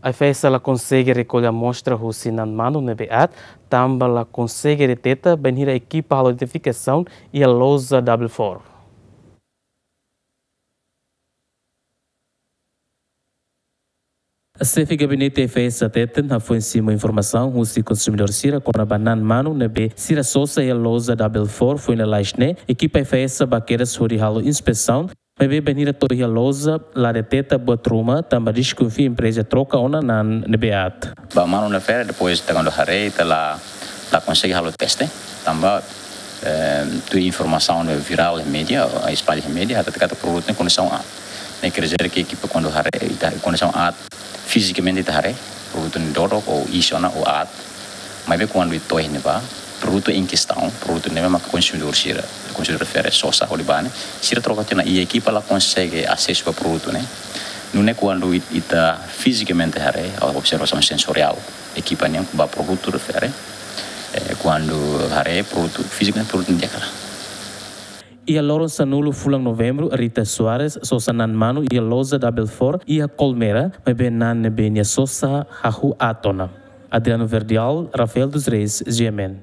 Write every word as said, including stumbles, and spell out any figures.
AIFAESA la konsege rekolla amostra husi na'an manu ne'ebé aat, tanba la konsege deteta bainhira ekipa halo identifikasaun iha loja Double Four. Xefe Gabinete AIFAESA hateten hafoin simu informasaun husi konsumidór sira kona-ba na'an manu ne'ebé sira sosa iha loja Double Four foin lalais ne'e, ekipa AIFAESA ba kedas hodi halo inspesaun, maibé bainhira to'o iha loja la deteta buat ruma tanba deskonfia empreza troka ona na'an ne'ebé aat. Ba manu refere, depois ita kuandu haree ita la, la konsege halo teste, tanba, eh, tuir informasaun ne'ebé virál iha média, espalla iha média, hatete katak produtu ne'e kondisaun aat. Ne'e quer dizer que ekipa kuandu haree, ita kondisaun aat, fizikamente ita haree, produtu ne'e dodok ou iis ona ou aat, maibé kuandu ita to'o iha ne'ebá, produtu em questão, produtu ne'ebé mak konsumidór sira, konsumidór refere sosa hodi bá ne'e, sira troka tiha ona i ekipa la konsege asesu ba produtu ne'e. Nune'e kuandu it-, ita fizikamente haree, observasaun sensoriál, ekipa nian ba produtu refere, eh, kuandu haree produtu fizikamente, produtu ne'e di'ak hela. Iha loron sanulu fulan Novembru, Rita Soares sosa na'an manu iha loja Double Four iha Colmera, maibé na'an ne'ebé nia sosa hahú aat ona. Adriano Verdial, Rafael dos Reis, G M N.